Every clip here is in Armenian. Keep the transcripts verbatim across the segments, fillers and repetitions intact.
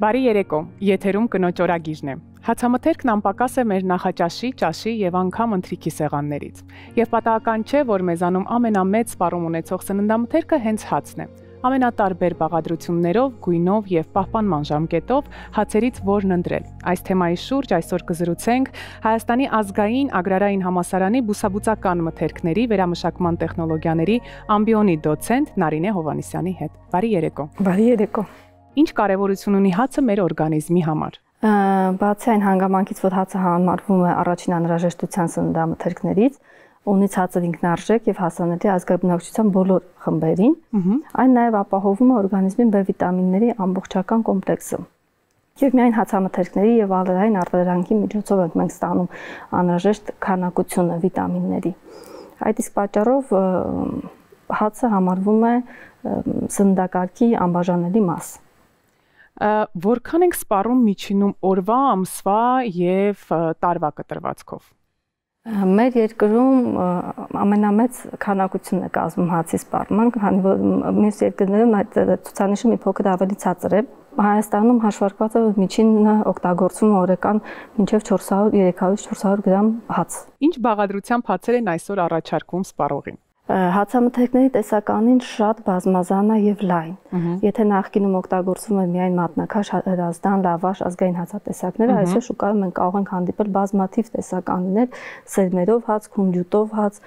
Բարի երեկո, եթերում կնոջ օրագիրն է։ Հացամթերքն անպակաս է մեր նախաճաշի, ճաշի եւ անգամ ընթրիքի սեղաններից։ Եվ պատահական չէ, որ մեզանում ամենամեծ սպառում ունեցող սննդամթերքը հենց հացն է։ Ամենատարբեր բաղադրություններով, գույնով եւ պահպանման ժամկետով հացերից որն ընտրել։ Այս թեմայի շուրջ այսօր կզրուցենք Հայաստանի ազգային agrarային համալսարանի բուսաբուծական մթերքների վերամշակման տեխնոլոգիաների ամբիոնի դոցենտ Նարինե Հովհաննիսյանի հետ։ Բարի երեկո։ Բարի երեկո։ Ինչ կարևորություն ունի հացը մեր օրգանիզմի համար։ Բացի այն հանգամանքից, որ հացը համարվում է առաջին անհրաժեշտության սննդամթերքներից, ունից հացը ինքնարժեք եւ հասանելի ազգաբնակչության բոլոր խմբերին, այն նաեւ ապահովում է օրգանիզմի B վիտամինների ամբողջական կոմպլեքսը։ Եվ միայն հացամթերքների եւ ալերային արտադրանքի միջոցով ենք մենք ստանում անհրաժեշտ քանակությունը վիտամինների։ Այդ իսկ պատճառով հացը համարվում է սննդակարգի անբաժանելի մաս։ Որքան ենք սպառում միջինում օրվա, ամսվա եւ տարվա կտրվածքով։ Մեր երկրում ամենամեծ քանակությունն է կազմում հացի սպառման, քանի որ մյուս երկրներում այդ ցուցանիշը մի փոքր ավելի ցածր է։ Հայաստանում հաշվարկված է միջինը օգտագործվում օրական մինչև չորս հարյուր երեք հարյուր չորս հարյուր գրամ հաց։ Ինչ բաղադրությամբ հացեր են այսօր առաջարկվում սպառողին։ Հացամթերքների տեսականին շատ բազմազան է եւ լայն։ Եթե նախկինում օգտագործվում էր միայն մատնաքաշ, հրազդան, լավաշ, ազգային հացատեսակները, այսօր շուկայում մենք կարող ենք հանդիպել բազմաթիվ տեսականիներ՝ սերմերով հաց, քունջուտով հաց,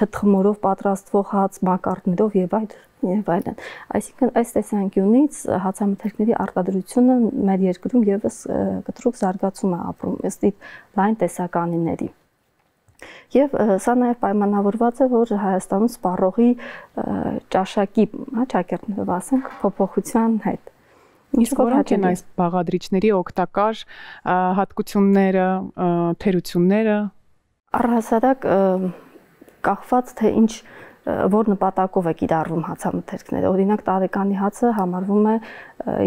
թթխմորով պատրաստվող հաց, մակարդներով եւ այլ եւ այլն։ Այսինքն այս տեսանկյունից հացամթերքների արտադրությունը մեր երկրում եւս կտրուկ զարգացում է ապրում ըստ լայն տեսականիների։ Եվ սա նաև պայմանավորված է, որ Հայաստանում սպառողի ճաշակի, հա, ճակերտներով ասենք, փոփոխության հետ։ Իսկ որոնք են այս բաղադրիչների օգտակար հատկությունները, թերությունները։ Առհասարակ կախված թե ինչ որ նպատակով է կիրառվում հացամթերքները։ Օրինակ տարեկանի հացը համարվում է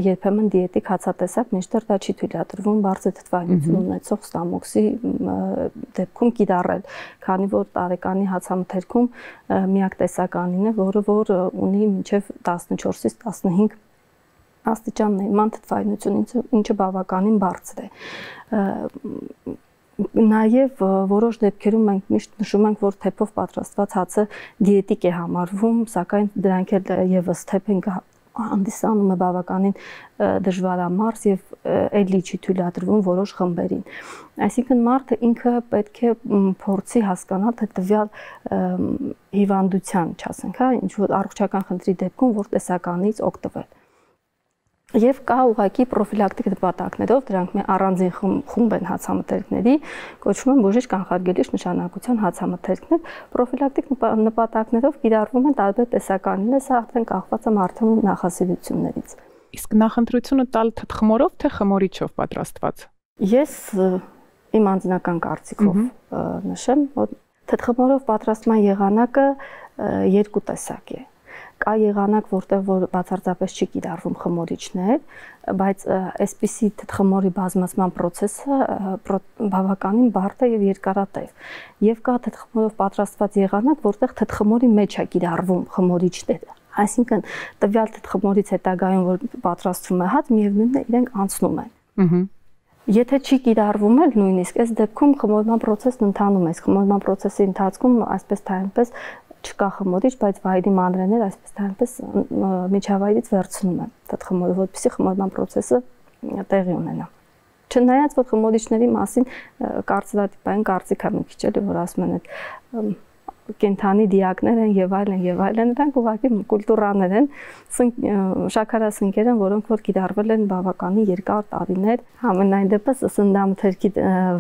երբեմն դիետիկ հացատեսակ, մինչդեռ դա չի թույլատրվում բարձր թթվայնություն ունեցող ստամոքսի դեպքում կիրառել, քանի որ տարեկանի հացամթերքում միակ տեսականին է, որը որ ունի մինչև տասնչորսից տասնհինգ աստիճան նման թթվայնություն, ինչը բավականին բարձր է։ Նաև որոշ դեպքերում մենք միշտ նշում ենք, որ թեփով պատրաստված հացը դիետիկ է համարվում, սակայն դրանք էլ եւս թեփ են հանդիսանում է բավականին դժվարամարս եւ էլի չի թույլատրվում որոշ խմբերին։ Այսինքն մարդը ինքը պետք է փորձի հասկանալ, թե տվյալ հիվանդության, չասենք, հա, ինչ որ առողջական խնդրի դեպքում որ տեսականից օգտվել։ Եվ կա ուղղակի պրոֆիլակտիկ նպատակներով, դրանք մի առանձին խումբ են հացամթերքների, կոչվում են բուժիչ կանխարգելիչ նշանակության հացամթերքներ, պրոֆիլակտիկ նպատակներով կիրառվում են տարբեր տեսականիներ, սա արդեն կախված է մարդու նախասիրություններից։ Իսկ նախընտրությունը տալ թթխմորով թե խմորիչով պատրաստված։ Ես իմ անձնական կարծիքով նշեմ, որ թթխմորով պատրաստման եղանակը երկու տեսակ է։ Կա եղանակ, որտեղ որ բացարձապես չի կիրառվում խմորիչներ, բայց այսպիսի թթխմորի բազմացման process-ը բավականին բարդ է եւ երկարատև։ Եվ կա թթխմորով պատրաստված եղանակ, որտեղ թթխմորի մեջ է կիրառվում խմորիչները։ Այսինքն տվյալ թթխմորից հետագայում որ պատրաստվում է հաց, միևնույնն է իրենք անցնում են։ Եթե չի կիրառվում էլ նույնիսկ այս դեպքում խմորման process-ն ընթանում է, խմորման process-ի ընթացքում այսպես թե այնպես չկա խմորիչ, բայց վայրի մանրեներ այսպես թե այնպես միջավայրից վերցնում են թթխմորը, որպեսզի խմորման process-ը տեղի ունենա։ Չնայած որ խմորիչների մասին կարծրատիպային կարծիք է մի քիչ էլի, որ ասում են այդ կենթանի դիակներ են եւ այլն եւ այլն, դրանք ուղղակի կուլտուրաներ են, շաքարասնկեր են, որոնք որ կիրառվել են բավականին երկար տարիներ։ Համենայն դեպս սննդամթերքի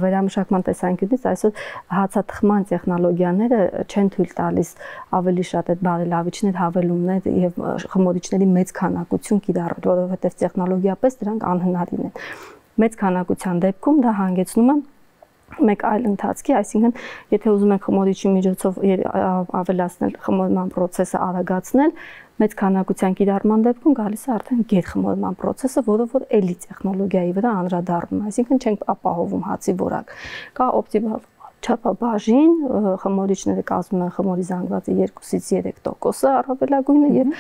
վերամշակման տեսանկյունից այսօր հացաթխման տեխնոլոգիաները չեն թույլ տալիս ավելի շատ այդ բարելավիչներ, հավելումներ եւ խմորիչների մեծ քանակություն կիրառել, որովհետեւ տեխնոլոգիապես դրանք անհնարին են։ Մեծ քանակության դեպքում դա հանգեցնում է մեկ այլ ընթացքի, այսինքն եթե ուզում ենք խմորիչի միջոցով ավելացնել խմորման process-ը արագացնել, մեծ քանակության կիրառման դեպքում գալիս է արդեն գերխմորման process-ը, որը որ էլի տեխնոլոգիայի վրա անդրադառնում է, այսինքն չենք ապահովում հացի որակ։ Կա օպտիմալ չափաբաժին, խմորիչները կազմում են խմորի զանգվածի երկուսից երեք տոկոսը առավելագույնը եւ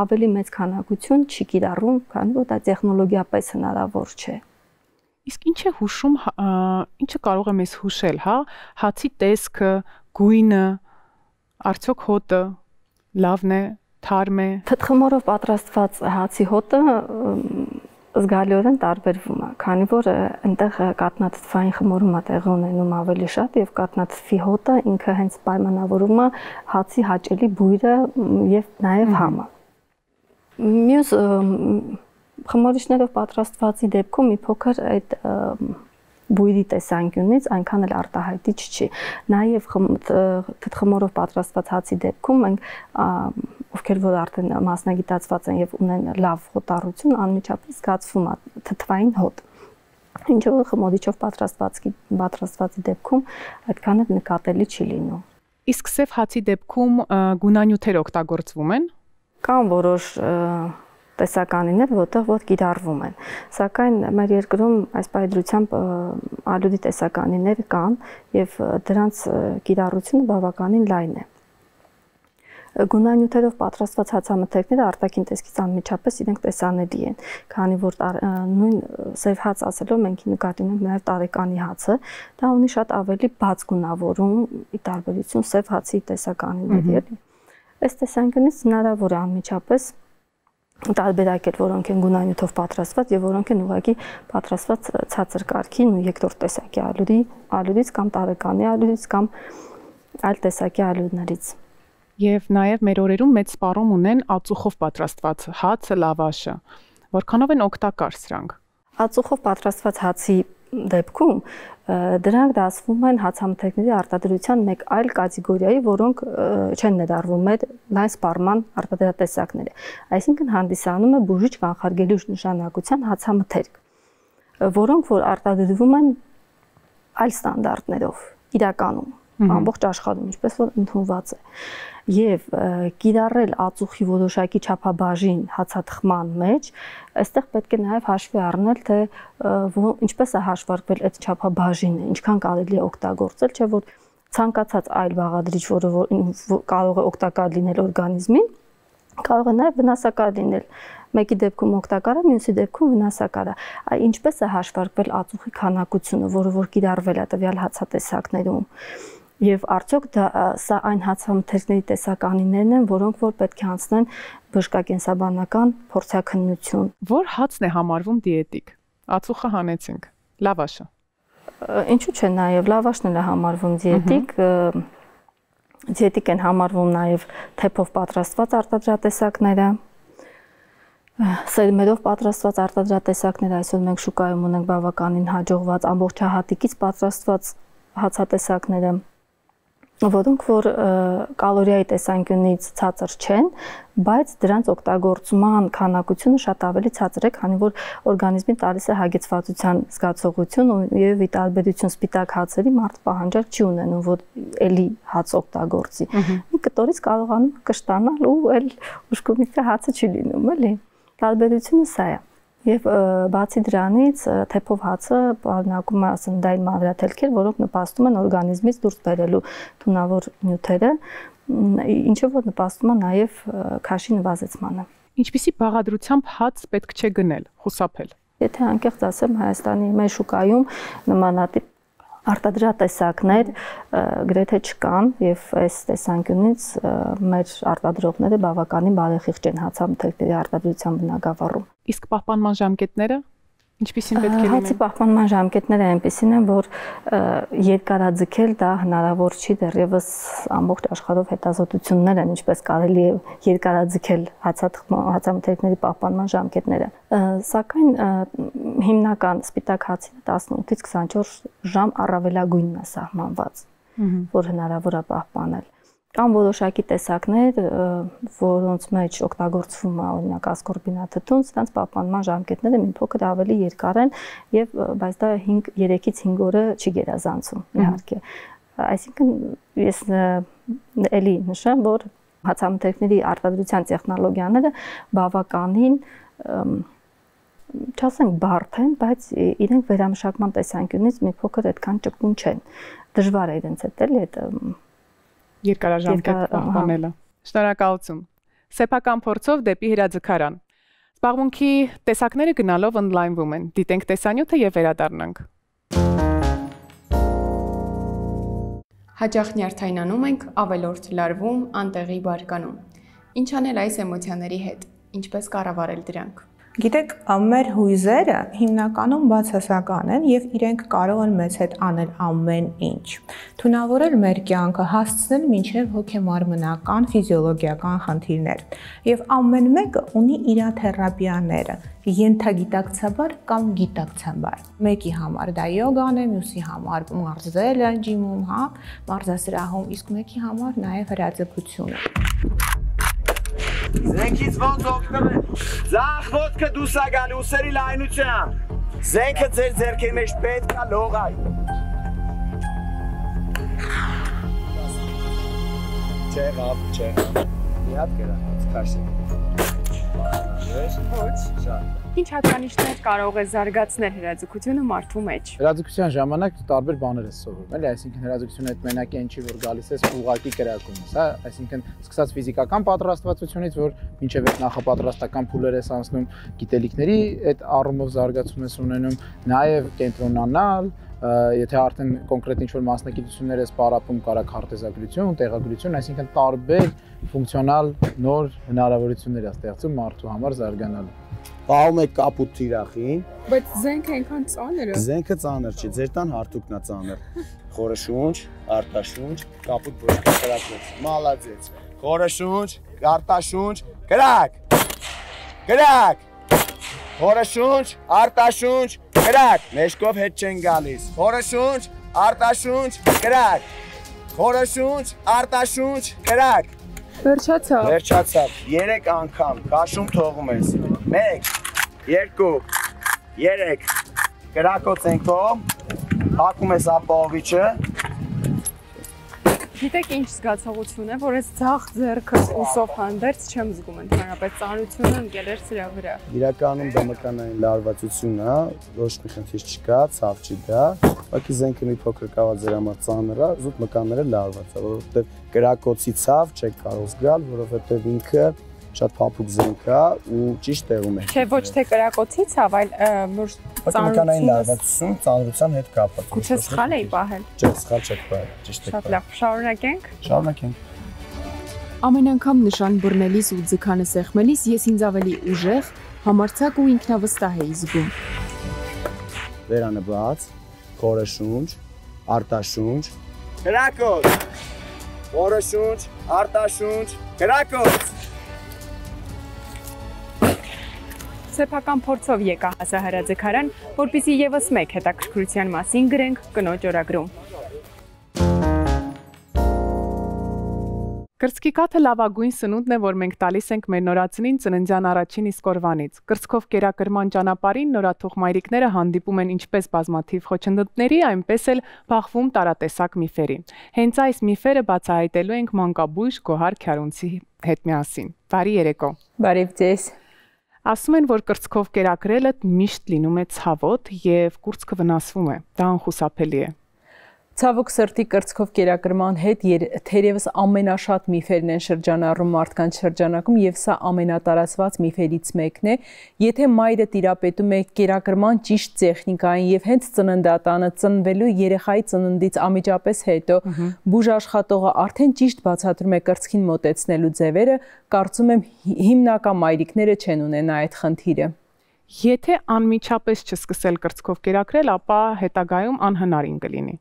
ավելի մեծ քանակություն չի կիրառում, քանի որ դա տեխնոլոգիապես հնարավոր չէ։ Իսկ ինչ է հուշում, ինչը կարող է մեզ հուշել, հա, հացի տեսքը, գույնը, արդյոք հոտը լավն է, թարմ է։ Թթխմորով պատրաստված հացի հոտը զգալիորեն տարբերվում է, քանի որ այնտեղ կաթնաթթվային խմորումը տեղի ունենում ավելի շատ եւ կաթնաթթվի հոտը ինքը հենց պայմանավորում է հացի հաճելի բույրը եւ նաեւ համը։ Մյուս խմորիչներով պատրաստվածի դեպքում մի փոքր այդ բույրի տեսանկյունից այնքան էլ արտահայտիչ չի։ Նաև թթխմորով պատրաստված հացի դեպքում մենք ովքեր որ արդեն մասնագիտացված են եւ ունեն լավ հոտառություն, անմիջապես զգացվում է թթվային հոտ։ Ինչը որ խմորիչով պատրաստվածի պատրաստվածի դեպքում այդքան էլ նկատելի չի լինում։ Իսկ սև հացի դեպքում գունանյութեր օգտագործվում են։ Կան որոշ տեսականիներ, որտեղ որ կիրառվում են։ Սակայն մեր երկրում այս պայծրությամբ ալյուդի տեսականիներ կան եւ դրանց կիրառությունը բավականին լայն է։ Գունանյութերով պատրաստված հացամթերքները արտաքին տեսքից անմիջապես իրենք տեսանելի են, քանի որ նույն սև հաց ասելով մենք նկատի ունենք նաեւ տարեկանի հացը, դա ունի շատ ավելի բաց գունավորում ի տարբերություն սև հացի տեսականիների։ Այս տեսանկյունից հնարավոր է անմիջապես տարբերակել, որոնք են գունանյութով պատրաստված եւ որոնք են ուղղակի պատրաստված ցածր կարգի ու երկրորդ տեսակի ալյուդի, ալյուդից կամ տարեկանի ալյուդից կամ այլ տեսակի ալյուդներից։ Եվ նաեւ մեր օրերում մեծ սպառում ունեն ածուխով պատրաստված հացը, լավաշը։ Որքանով են օգտակար սրանք։ Ածուխով պատրաստված հացի դեպքում դրանք դասվում են հացամթերքների արտադրության մեկ այլ կատեգորիայի, որոնք չեն ներառվում մեր լայն սպառման արտադրատեսակները։ Այսինքն հանդիսանում է բուժիչ կանխարգելիչ նշանակության հացամթերք, որոնք որ արտադրվում են այլ ստանդարտներով իրականում, ամբողջ աշխարհում, ինչպես որ ընդունված է։ Եվ կիրառել ածուխի որոշակի չափաբաժին հացաթխման մեջ, այստեղ պետք է նաև հաշվի առնել, թե ինչպես է հաշվարկվել այդ չափաբաժինը, ինչքան կարելի է օգտագործել, չէ՞ որ ցանկացած այլ բաղադրիչ, որը կարող է օգտակար լինել օրգանիզմին, կարող է նաև վնասակար լինել։ Մեկի դեպքում օգտակար է, մյուսի դեպքում վնասակար է։ Ինչպես է հաշվարկվել ածուխի քանակությունը, որը որ կիրառվել է տվյալ հացատեսակներում։ Եվ արդյոք դա սա այն հացամթերքների տեսականիներն են, որոնք որ պետք է անցնեն բժշկակենսաբանական փորձաքննություն։ Որ հացն է համարվում դիետիկ։ Ածուխը հանեցինք, լավաշը։ Ինչու՞ չէ, նաև լավաշն էլ է համարվում դիետիկ։ Դիետիկ են համարվում նաև թեփով պատրաստված արտադրատեսակները։ Սերմերով պատրաստված արտադրատեսակները այսօր մենք շուկայում ունենք բավականին հաջողված ամբողջահատիկից պատրաստված հացատեսակները, որոնք որ կալորիայի տեսանկյունից ցածր չեն, բայց դրանց օգտագործման քանակությունը շատ ավելի ցածր է, քանի որ օրգանիզմին տալիս է հագեցվածության զգացողություն եւ ի տարբերություն սպիտակ հացերի մարդ պահանջար չի ունենում, որ էլի հաց օգտագործի։ Մի կտորից կարողանում կշտանալ ու էլ ուշքումիկը հացը չի լինում, էլի։ Տարբերությունը սա է։ Եվ բացի դրանից թեփով հացը պարունակում է սննդային մանրաթելքեր, որոնք նպաստում են օրգանիզմից դուրս բերելու թունավոր նյութերը, ինչը որ նպաստում է նաև քաշի նվազեցմանը։ Ինչպիսի բաղադրությամբ հաց պետք չէ գնել, խուսափել։ Եթե անկեղծ ասեմ, Հայաստանի մեր շուկայում նմանատիպ արտադրատեսակներ գրեթե չկան եւ այս տեսանկյունից մեր արտադրողները բավականին բարեխիղճ են հացամթերքների արտադրության բնագավառում։ Իսկ պահպանման ժամկետները ինչպիսին պետք է լինեն։ Հացի պահպանման ժամկետները այնպիսին են, որ երկարաձգել դա հնարավոր չի, դեռևս ամբողջ աշխարհով հետազոտություններ են, ինչպես կարելի է երկարաձգել հացամթերքների պահպանման ժամկետները։ Սակայն հիմնական սպիտակ հացին տասնութից քսանչորս ժամ առավելագույնն է սահմանված, որ հնարավոր է պահպանել։ Կան որոշակի տեսակներ, որոնց մեջ օգտագործվում է օրինակ ասկորբինաթթուն, սրանց պահպանման ժամկետները մի փոքր ավելի երկար են եւ բայց դա երեքից հինգ օրը չի գերազանցում իհարկե։ Այսինքն ես էլի նշեմ, որ հացամթերքների արտադրության տեխնոլոգիաները բավականին չասենք բարդ են, բայց իրենք վերամշակման տեսանկյունից մի փոքր այդքան ճկուն չեն։ Դժվար է իրենց հետ էլի այդ երկարաժամկետ պահպանելը։ Շնորհակալություն։ Սեփական փորձով դեպի հրաձգարան։ Զբաղմունքի տեսակները գնալով ընդլայնվում են։ Դիտենք տեսանյութը եւ վերադառնանք։ Հաճախ նյարդայնանում ենք, ավելորդ լարվում, անտեղի բարկանում։ Ինչ անել այս էմոցիաների հետ, ինչպես կառավարել դրանք։ Գիտեք, մեր հույզերը հիմնականում բացասական են եւ իրենք կարող են մեզ հետ անել ամեն ինչ։ Թունավորել մեր կյանքը, հասցնել մինչեւ հոգեմարմնական, ֆիզիոլոգիական խնդիրներ։ Եվ ամեն մեկը ունի իր թերապիաները, ենթագիտակցաբար կամ գիտակցաբար։ Մեկի համար դա յոգան է, մյուսի համար մարզելը ջիմում, հա, մարզասրահում, իսկ մեկի համար նաեւ հրաձգությունը։ Զենքից ոնց օգտվել։ Ձախ ոտքը դուրս է գալի ուսերի լայնությամբ։ Զենքը ձեր ձեռքի մեջ պետք է լողայ։ Չեղավ, չեղավ։ Մի հատ կրած, քաշի։ Ոչ։ Շատ։ Ինչ հատկանիշներ կարող է զարգացնել հրաձգությունը մարդու մեջ։ Հրաձգության ժամանակ տարբեր բաներ ես սովորում, էլի, այսինքն հրաձգությունը այդ մենակի այն չի, որ գալիս ես ուղղակի կրակում ես, հա, այսինքն սկսած ֆիզիկական պատրաստվածությունից, որ մինչև այդ նախապատրաստական փուլեր ես անցնում, գիտելիքների այդ առումով զարգացում ես ունենում, նաև կենտրոնանալ, եթե արդեն կոնկրետ ինչ-որ մասնագիտություններ ես պարապում, կարա քարտեզագրություն, տեղագրություն, այսինքն տարբեր ֆունկցիոնալ նոր հնարավորություններ է ստեղծում մարդու համար զարգանալու։ Պահում եք կապուտ թիրախին։ Բայց զենքը այնքան ծանր է։ Զենքը ծանր չի, ձեր տան հարթուկն է ծանր։ Խորը շունչ, արտաշունչ, կապուտ ոչ կրակեց։ Մալադեց։ Խորը շունչ, արտաշունչ, կրակ։ Կրակ։ Խորը շունչ, արտաշունչ, կրակ։ Մեջքով հետ չեն գալիս։ Խորը շունչ, արտաշունչ, կրակ։ Խորը շունչ, արտաշունչ, կրակ։ Վերջացավ։ Վերջացավ։ Երեք անգամ քաշում թողում ես։ Մեկ, երկու, երեք, կրակոց ենքով, հակում ես ապահովիչը։ Գիտեք ինչ զգացողություն է, որ այս ձախ ձեռքս ուսով հանդերձ չեմ զգում, ընդհանրապես ծանրությունը ընկել էր սրա վրա։ Իրականում դա մկանային լարվածություն է, ոչ մի խնդիր չկա, ցավ չի դա, ուղղակի զենքը մի փոքր կավա ձեր համար ծանր է, զուտ մկանները լարված է, որովհետև կրակոցի ցավ չեք կարող զգալ, որովհետև ինքը շատ փափուկ զենք է ու ճիշտ տեղում է։ Չէ, ոչ թե կրակոցից, այլ որ ծանրության լարվածություն ծանրության հետ կապված։ Գուցե սխալ էի պահել։ Չէ, սխալ չեք պահել, ճիշտ եք պահել։ Շատ լավ, շարունակենք։ Շարունակենք։ Ամեն անգամ նշան բռնելիս ու ձգանը սեղմելիս ես ինձ ավելի ուժեղ, համարձակ ու ինքնավստահ էի զգում։ Վերանը բաց, խորը շունչ, արտաշունչ, կրակոց։ Խորը շունչ, արտաշունչ, կրակոց։ Սեփական փորձով եկա հասա հրաձգարան, որպեսզի եւս մեկ հետաքրքրության մասին գրենք կնոջ օրագրում։ Կրծքի կաթը լավագույն սնունդն է, որ մենք տալիս ենք մեր նորածնին ծննդյան առաջին իսկ օրվանից։ Կրծքով կերակրման ճանապարհին նորաթուխ մայրիկները հանդիպում են ինչպես բազմաթիվ խոչընդոտների, այնպես էլ բախվում տարատեսակ միֆերի։ Հենց այս միֆերը բացահայտելու ենք մանկաբույժ Գոհար Քյարունցի հետ միասին։ Բարի երեկո։ Բարև ձեզ։ Ասում են, որ կրծքով կերակրելը միշտ լինում է ցավոտ եւ կուրծքը վնասվում է։ Դա անխուսափելի է։ Ցավոք սրտի կրծքով կերակրման հետ թերևս ամենաշատ միֆերն են շրջանառում մարդկանց շրջանակում եւ սա ամենատարածված միֆերից մեկն է։ Եթե մայրը տիրապետում է կերակրման ճիշտ տեխնիկային եւ հենց ծննդատանը ծնվելու երեխայի ծննդից անմիջապես հետո բուժ աշխատողը արդեն ճիշտ բացատրում է կրծքին մոտեցնելու ձևերը, կարծում եմ հիմնական մայրիկները չեն ունենա այդ խնդիրը։ Եթե անմիջապես չսկսել կրծքով կերակրել, ապա հետագայում անհնարին կլինի։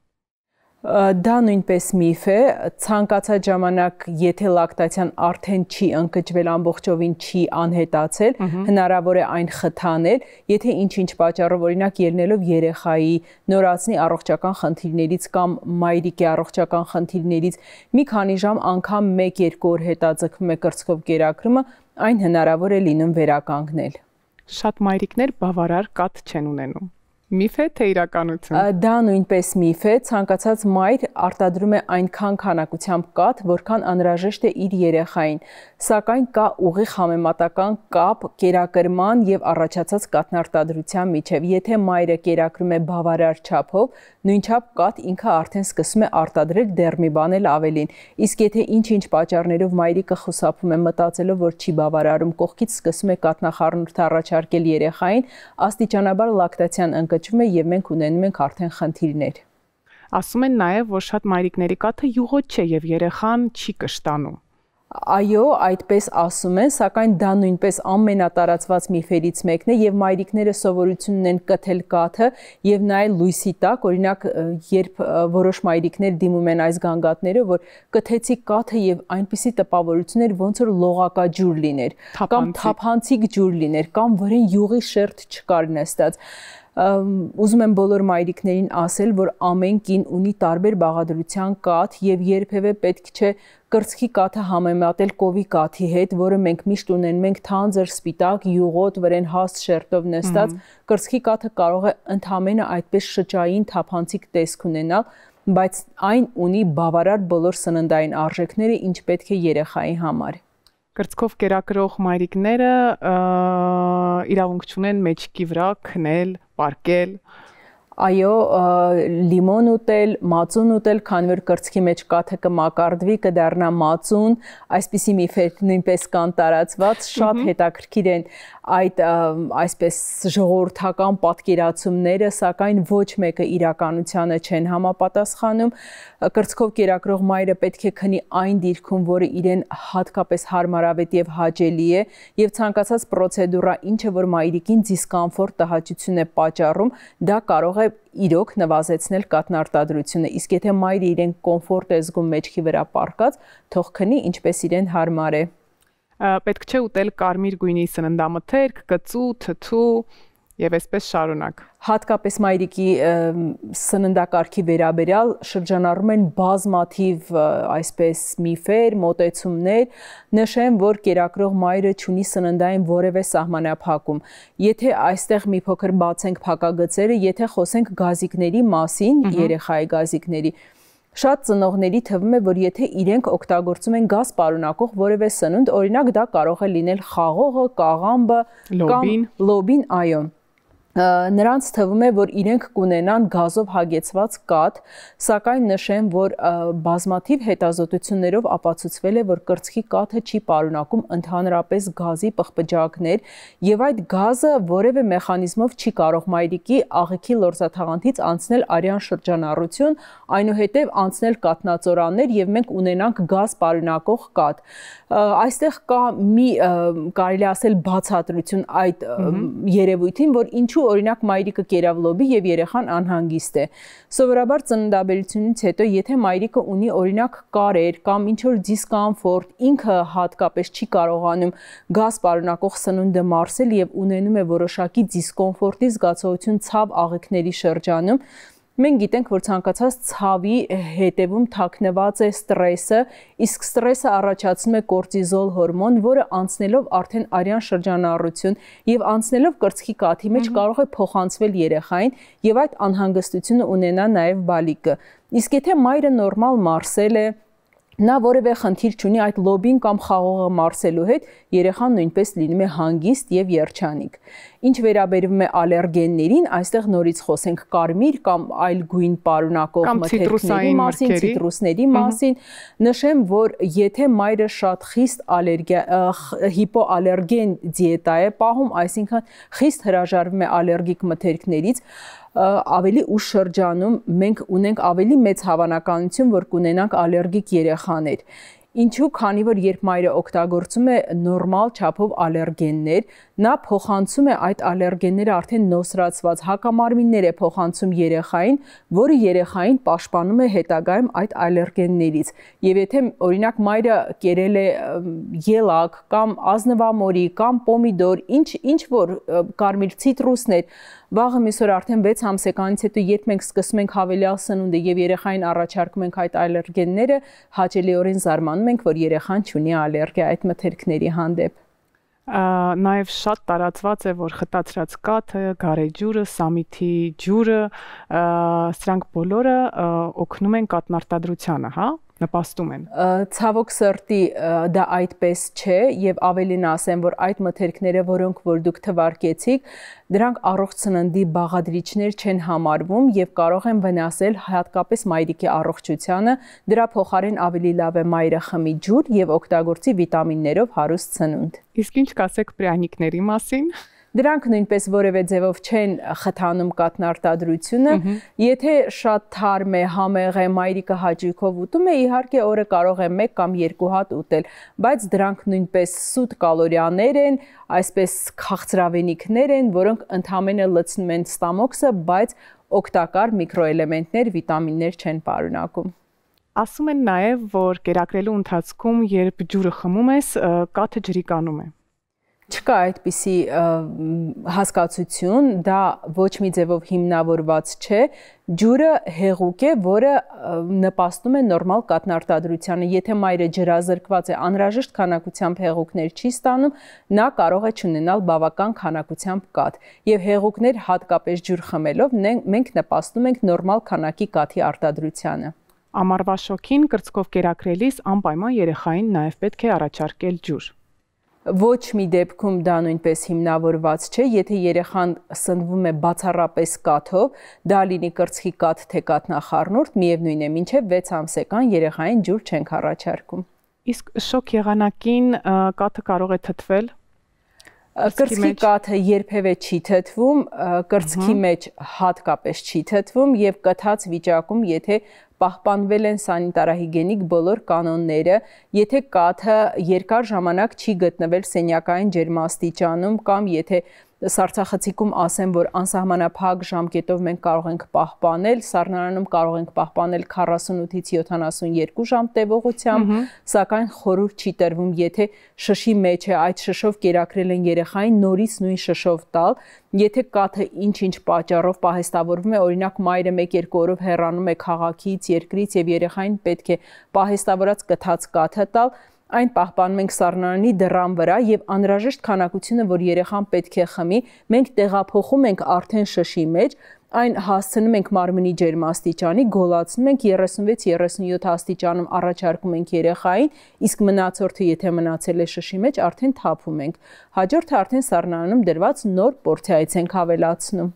Դա նույնպես միֆ է, ցանկացած ժամանակ, եթե լակտացիան արդեն չի ընկճվել, ամբողջովին չի անհետացել, հնարավոր է այն խթանել, եթե ինչ-ինչ պատճառով, օրինակ ելնելով երեխայի նորածնի առողջական խնդիրներից կամ մայրիկի առողջական խնդիրներից մի քանի ժամ անգամ մեկ-երկու օր հետաձգվում է կրծքով կերակրումը, այն հնարավոր է լինում վերականգնել։ Շատ մայրիկներ բավարար կաթ չեն ունենում։ Միֆ է թե իրականություն։ Դա նույնպես միֆ է, ցանկացած մայր արտադրում է այնքան քանակությամբ կաթ, որքան անհրաժեշտ է իր երեխային, սակայն կա ուղիղ համեմատական կապ կերակրման եւ առաջացած կաթնարտադրության միջև։ Եթե մայրը կերակրում է բավարար չափով, նույնչափ կաթ ինքը արդեն սկսում է արտադրել դեռ մի բան էլ ավելին։ Իսկ եթե ինչ-ինչ պատճառներով մայրիկը խուսափում է մտածելով, որ չի բավարարում, կողքից սկսում է կաթնախառնուրդ առաջարկել երեխային, աստիճանաբար լակտացիան ընկճվում է եւ մենք ունենում ենք արդեն խնդիրներ։ Ասում են նաեւ, որ շատ մայրիկների կաթը յուղոտ չէ եւ երեխան չի կշտանում։ Այո, այդպես ասում են, սակայն դա նույնպես ամենատարածված միֆերից մեկն է եւ մայրիկները սովորություն ունեն կթել կաթը եւ նայել լույսի տակ, օրինակ, երբ որոշ մայրիկներ դիմում են այս գանգատները, որ կթեցի կաթը եւ այնպիսի տպավորություն էր, ոնց որ լողակաջուր լիներ, կամ թափանցիկ ջուր լիներ, կամ վրան յուղի շերտ չկար նստած։ Ուզում եմ բոլոր մայրիկներին ասել, որ ամեն կին ունի տարբեր բաղադրության կաթ եւ երբևէ պետք չէ կրծքի կաթը համեմատել կովի կաթի հետ, որը մենք միշտ ունենում ենք թանձր, սպիտակ, յուղոտ, վրան հաստ շերտով նստած։ Կրծքի կաթը կարող է ընդհանրապես այդպես շճային թափանցիկ տեսք ունենալ, բայց այն ունի բավարար բոլոր սննդային արժեքները, ինչ պետք է երեխայի համար։ Կրծքով կերակրող մայրիկները իրավունք չունեն մեջքի վրա քնել, պարկել։ Այո, լիմոն ուտել, մածուն ուտել, քանի որ կրծքի մեջ կաթը կմակարդվի, կդառնա մածուն, այսպիսի միֆեր նույնպես կան տարածված, շատ հետաքրքիր են այդ այսպես ժողովրդական պատկերացումները, սակայն ոչ մեկը իրականությանը չեն համապատասխանում։ Կրծքով կերակրող մայրը պետք է քնի այն դիրքում, որը իրեն հատկապես հարմարավետ եւ հաճելի է, եւ ցանկացած պրոցեդուրա, ինչը որ մայրիկին դիսկոմֆորտ, տհաճություն է պատճառում, դա կարող է իրոք նվազեցնել կաթնարտադրությունը, իսկ եթե մայրը իրեն կոմֆորտ է զգում մեջքի վրա պառկած, թող քնի ինչպես իրեն հարմար է։ Պետք չէ ուտել կարմիր գույնի սննդամթերք, կծու, թթու եւ այսպես շարունակ։ Հատկապես մայրիկի սննդակարգի վերաբերյալ շրջանառում են բազմաթիվ այսպես միֆեր, մոտեցումներ, նշեմ, որ կերակրող մայրը չունի սննդային որևէ սահմանափակում։ Եթե այստեղ մի փոքր բացենք փակագծերը, եթե խոսենք գազիկների մասին, երեխայի գազիկների, շատ ծնողների թվում է, որ եթե իրենք օգտագործում են գազ պարունակող որևէ սնունդ, օրինակ դա կարող է լինել խաղողը, կաղամբը կամ լոբին, այո։ Նրանց թվում է, որ իրենք կունենան գազով հագեցված կաթ, սակայն նշեմ, որ բազմաթիվ հետազոտություններով ապացուցվել է, որ կրծքի կաթը չի պարունակում ընդհանրապես գազի պղպջակներ եւ այդ գազը որևէ մեխանիզմով չի կարող մայրիկի աղիքի լորձաթաղանթից անցնել արյան շրջանառություն, այնուհետև անցնել կաթնածորաններ եւ մենք ունենանք գազ պարունակող կաթ։ Այստեղ կա մի կարելի ասել բացատրություն այդ երևույթին, որ ինչու օրինակ մայրիկը կերավ լոբի եւ երեխան անհանգիստ է։ Սովորաբար ծննդաբերությունից հետո եթե մայրիկը ունի օրինակ կարեր կամ ինչ որ դիսկոմֆորտ, ինքը հատկապես չի կարողանում գազ պարունակող սնունդը մարսել եւ ունենում է որոշակի դիսկոմֆորտի զգացողություն ցավ աղիքների շրջանում, մենք գիտենք, որ ցանկացած ցավի հետևում թաքնված է ստրեսը, իսկ ստրեսը առաջացնում է կորտիզոլ հորմոն, որը անցնելով արդեն արյան շրջանառություն եւ անցնելով կրծքի կաթի մեջ կարող է փոխանցվել երեխային եւ այդ անհանգստությունը ունենա նաեւ բալիկը։ Իսկ եթե մայրը նորմալ մարսել է, նա որևէ խնդիր չունի այդ լոբին կամ խաղողը մարսելու հետ, երեխան նույնպես լինում է հանգիստ եւ երջանիկ։ Ինչ վերաբերում է ալերգեններին, այստեղ նորից խոսենք կարմիր կամ այլ գույն պարունակող մթերքների մասին, ցիտրուսների մասին, նշեմ, որ եթե մայրը շատ խիստ ալերգիա հիպոալերգեն դիետա է պահում, այսինքն խիստ հրաժարվում է ալերգիկ մթերքներից, ավելի ուշ շրջանում մենք ունենք ավելի մեծ հավանականություն, որ կունենանք ալերգիկ երեխաներ։ Ինչու, քանի որ երբ մայրը օգտագործում է նորմալ չափով ալերգեններ, նա փոխանցում է այդ ալերգենները արդեն նոսրացված հակամարմիններ է փոխանցում երեխային, որը երեխային պաշտպանում է հետագայում այդ ալերգեններից։ Եվ եթե օրինակ մայրը կերել է ելակ կամ ազնվամորի կամ պոմիդոր, ինչ ինչ որ կարմիր ցիտրուսներ, վաղը միսօր արդեն վեց ամսեկանից հետո երբ մենք սկսում ենք հավելյալ սնունդը եւ երեխային առաջարկում ենք այդ ալերգենները, հաճելիորեն զարմանում ենք, որ երեխան չունի ալերգիա այդ մթերքների հանդեպ։ Նաև շատ տարածված է, որ խտացրած կաթը, գարեջուրը, սամիթի ջուրը, սրանք բոլորը օգնում են կաթնարտադրությանը, հա, նպաստում են։ Ցավոք սրտի դա այդպես չէ եւ ավելին ասեմ, որ այդ մթերքները, որոնք որ դուք թվարկեցիք, դրանք առողջ սննդի բաղադրիչներ չեն համարվում եւ կարող են վնասել հատկապես մայրիկի առողջությանը։ Դրա փոխարեն ավելի լավ է մայրը խմի ջուր եւ օգտագործի վիտամիններով հարուստ սնունդ։ Իսկ ինչ կասեք պրյանիկների մասին։ Դրանք նույնպես որևէ ձևով չեն խթանում կաթնարտադրությունը, եթե շատ թարմ է, համեղ է, մայրիկը հաճույքով ուտում է, իհարկե օրը կարող է մեկ կամ երկու հատ ուտել, բայց դրանք նույնպես սուտ կալորիաներ են, այսպես քաղցրավենիքներ են, որոնք ընդհանրապես լցնում են ստամոքսը, բայց օգտակար միկրոէլեմենտներ, վիտամիններ չեն պարունակում։ Ասում են նաև, որ կերակրելու ընթացքում, երբ ջուրը խմում ես, կաթը ջրիկանում է։ Չկա այդպիսի հասկացություն, դա ոչ մի ձևով հիմնավորված չէ, ջուրը հեղուկ է, որը նպաստում է նորմալ կաթնարտադրությանը, եթե մայրը ջրազրկված է, անհրաժեշտ քանակությամբ հեղուկներ չի ստանում, նա կարող է չունենալ բավական քանակությամբ կաթ, եւ հեղուկներ հատկապես ջուր խմելով մենք նպաստում ենք նորմալ քանակի կաթի արտադրությանը։ Ամառվա շոգին կրծքով կերակրելիս անպայման երեխային նաև պետք է առաջարկել ջուր։ Ոչ մի դեպքում դա նույնպես հիմնավորված չէ, եթե երեխան սնվում է բացառապես կաթով, դա լինի կրծքի կաթ թե կաթնախառնուրդ, միևնույն է, մինչև վեց ամսեկան երեխային ջուր չենք առաջարկում։ Իսկ շոկ եղանակին կաթը կարող է թթվել։ Կրծքի կաթը երբևէ չի թթվում, կրծքի մեջ հատկապես չի թթվում եւ կթած վիճակում, եթե պահպանվել են սանիտարահիգենիկ բոլոր կանոնները, եթե կաթը երկար ժամանակ չի գտնվել սենյակային ջերմաստիճանում կամ եթե սառցախցիկում ասեմ, որ անսահմանափակ ժամկետով մենք կարող ենք պահպանել, սառնարանում կարող ենք պահպանել քառասունութից յոթանասունյերկու ժամ տևողությամբ, սակայն խորհուրդ չի տրվում, եթե շշի մեջ է, այդ շշով կերակրել են երեխային, նորից նույն շշով տալ, եթե կաթը ինչ-ինչ պատճառով պահեստավորվում է, օրինակ մայրը մեկ-երկու օրով հեռանում է քաղաքից, երկրից եւ երեխային պետք է պահեստավորած կթած կաթը տալ, այն պահպանում ենք սառնարանի դռան վրա եւ անհրաժեշտ քանակությունը, որ երեխան պետք է խմի, մենք տեղափոխում ենք արդեն շշի մեջ, այն հասցնում ենք մարմնի ջերմաստիճանի, գոլացնում ենք երեսունվեց երեսունյոթ աստիճանում առաջարկում ենք երեխային, իսկ մնացորդը եթե մնացել է շշի մեջ, արդեն թափում ենք։ Հաջորդը արդեն սառնարանում դրված նոր պորցիայից ենք ավելացնում։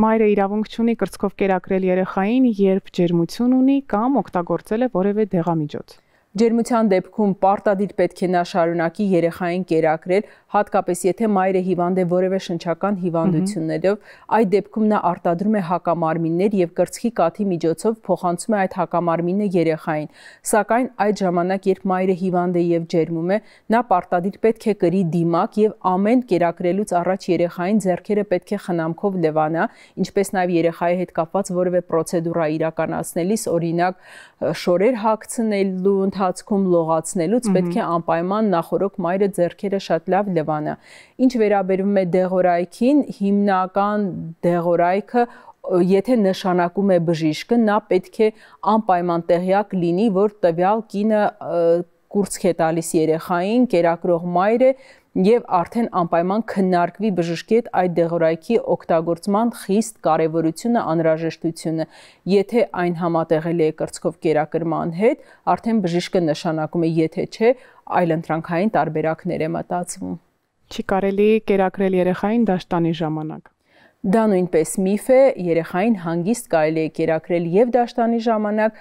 Մայրը իրավունք չունի կրծքով կերակրել երեխային, երբ ջերմություն ունի կամ օգտագործել է որևէ դեղամիջոց։ Ջերմության դեպքում պարտադիր պետք է նա շարունակի երեխային կերակրել, հատկապես եթե մայրը հիվանդ է որևէ շնչական հիվանդություններով, այդ դեպքում նա արտադրում է հակամարմիններ եւ կրծքի կաթի միջոցով փոխանցում է այդ հակամարմինը երեխային։ Սակայն այդ ժամանակ, երբ մայրը հիվանդ է եւ ջերմում է, նա պարտադիր պետք է կրի դիմակ եւ ամեն կերակրելուց առաջ երեխային ձեռքերը պետք է խնամքով լվանա, ինչպես նաեւ երեխայի հետ կապված որևէ պրոցեդուրա իրականացնելիս, օրինակ շորեր հագցնելու ընթացքում լողացնելուց պետք է անպայման նախորոք մայրը ձեռքերը շատ լավ լվանա։ Ինչ վերաբերում է դեղորայքին, հիմնական դեղորայքը, եթե նշանակում է բժիշկը, նա պետք է անպայման տեղյակ լինի, որ տվյալ կինը կուրծք է տալիս երեխային, կերակրող մայր է եւ արդեն անպայման քննարկվի բժշկի հետ այդ դեղորայքի օգտագործման խիստ կարեւորությունը, անհրաժեշտությունը։ Եթե այն համատեղելի է կրծքով կերակրման հետ, արդեն բժիշկը նշանակում է, եթե չէ, այլընտրանքային տարբերակներ է մտածվում։ Չի կարելի կերակրել երեխային դաշտանի ժամանակ։ Դա նույնպես միֆ է, երեխային հանգիստ կարելի է կերակրել եւ դաշտանի ժամանակ,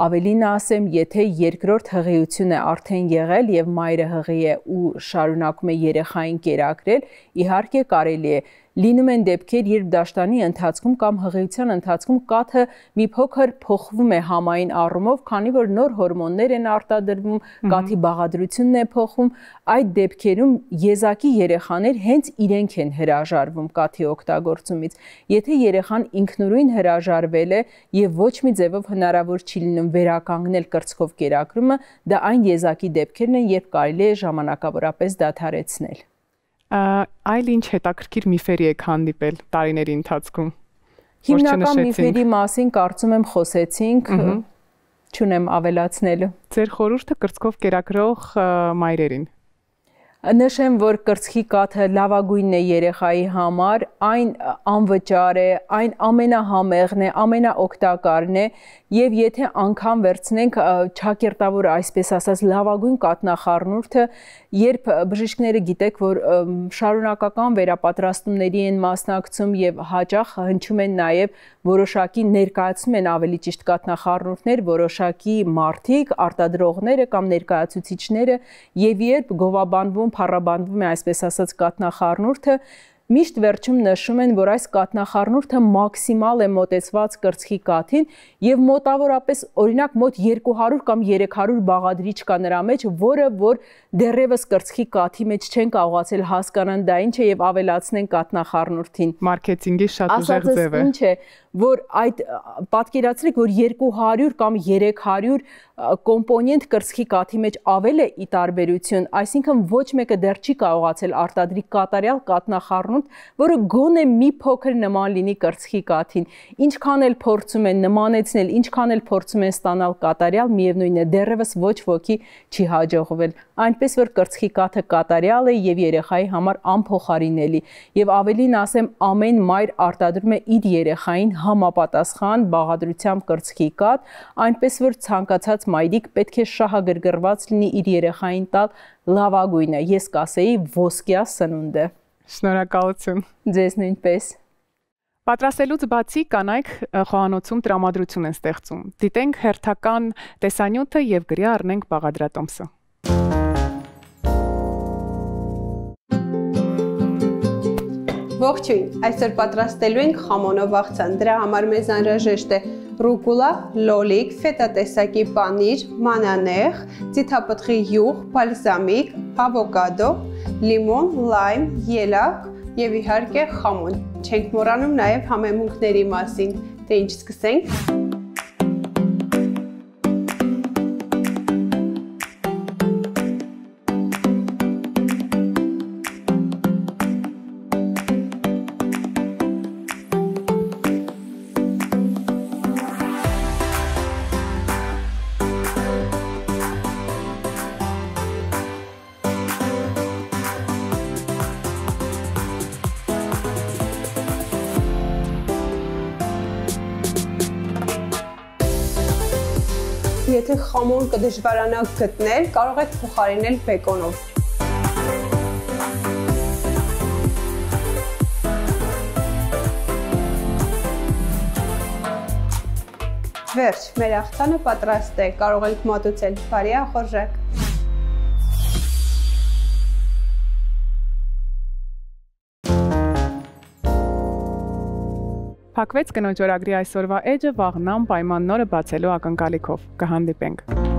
ավելին ասեմ, եթե երկրորդ հղիություն է արդեն եղել եւ մայրը հղի է ու շարունակում է երեխային կերակրել, իհարկե կարելի է։ Լինում են դեպքեր, երբ դաշտանի ընթացքում կամ հղիության ընթացքում կաթը մի փոքր փոխվում է համային առումով, քանի որ նոր հորմոններ են արտադրվում, կաթի բաղադրությունն է փոխվում, այդ դեպքերում եզակի երեխաներ հենց իրենք են հրաժարվում կաթի օգտագործումից։ Եթե երեխան ինքնուրույն հրաժարվել է եւ ոչ մի ձևով հնարավոր չի լինում վերականգնել կրծքով կերակրումը, դա այն եզակի դեպքերն են, երբ կարելի է ժամանակավորապես դադարեցնել։ Այլ ինչ հետաքրքիր միֆերի եք հանդիպել տարիների ընթացքում։ Հիմնական միֆերի մասին կարծում եմ խոսեցինք, չունեմ ավելացնելու։ Ձեր խորհուրդը կրծքով կերակրող մայրերին։ Նշեմ, որ կրծքի կաթը լավագույնն է երեխայի համար, այն անվճար է, այն ամենահամեղն է, ամենաօգտակարն է, եւ եթե անգամ վերցնենք ճակերտավոր, այսպես ասած, լավագույն կաթնախառնուրդը, երբ բժիշկները գիտեք, որ շարունակական վերապատրաստումների են մասնակցում եւ հաճախ հնչում են նաեւ որոշակի ներկայացնում են ավելի ճիշտ կաթնախառնուրդներ, որոշակի մարդիկ, արտադրողները կամ ներկայացուցիչները եւ երբ գովաբանվում, փառաբանվում է այսպես ասած կաթնախառնուրդը, միշտ վերջում նշում են, որ այս կաթնախառնուրդը մաքսիմալ է մոտեցված կրծքի կաթին եւ մոտավորապես օրինակ մոտ երկու հարյուր կամ երեք հարյուր բաղադրիչ կա նրա մեջ, որը որ դեռևս կրծքի կաթի մեջ չեն կարողացել հասկանան դա ինչ է եւ ավելացնեն կաթնախառնուրդին։ Մարքեթինգի շատ ուժեղ ձև է։ Ինչ է, որ այդ պատկերացրեք, որ երկու հարյուր կամ երեք հարյուր կոմպոնենտ կրծքի կաթի մեջ ավել է ի տարբերություն, այսինքն ոչ մեկը դեռ չի կարողացել արտադրի կատարյալ կաթնախառնուրդ, որը գոնե մի փոքր նման լինի կրծքի կաթին։ Ինչքան էլ փորձում են նմանեցնել, ինչքան էլ փորձում են ստանալ կատարյալ, միևնույնն է, դեռևս ոչ ոքի չի հաջողվել։ Այնպես որ կրծքի կաթը կատարյալ է եւ երեխայի համար անփոխարինելի։ Եվ ավելին ասեմ, ամեն մայր արտադրում է իր երեխային համապատասխան բաղադրությամբ կրծքի կաթ, այնպես որ ցանկացած մայրիկ պետք է շահագրգռված լինի իր երեխային տալ լավագույնը, ես կասեի ոսկյա սնունդը։ Շնորհակալություն։ Ձեզ նույնպես։ Պատրաստելուց բացի կանայք խոհանոցում տրամադրություն են ստեղծում։ Դիտենք հերթական տեսանյութը եւ գրի առնենք բաղադրատոմսը։ Ողջույն, այսօր պատրաստելու ենք խամոնով աղցան, դրա համար մեզ անհրաժեշտ է ռուկուլա, լոլիկ, ֆետա տեսակի պանիր, մանանեխ, ձիթապտղի յուղ, բալզամիկ, ավոկադո, լիմոն, լայմ, ելակ եւ իհարկե խամոն։ Չենք մոռանում նաեւ համեմունքների մասին, թե ինչ սկսենք։ Եթե խամոն կդժվարանաք գտնել, կարող եք փոխարինել բեկոնով։ Վերջ, մեր աղցանը պատրաստ է, կարող եք մատուցել, բարի ախորժակ։ Փակվեց կնոջ օրագրի այսօրվա էջը, վաղն պայման նորը բացելու ակնկալիքով։ Կհանդիպենք։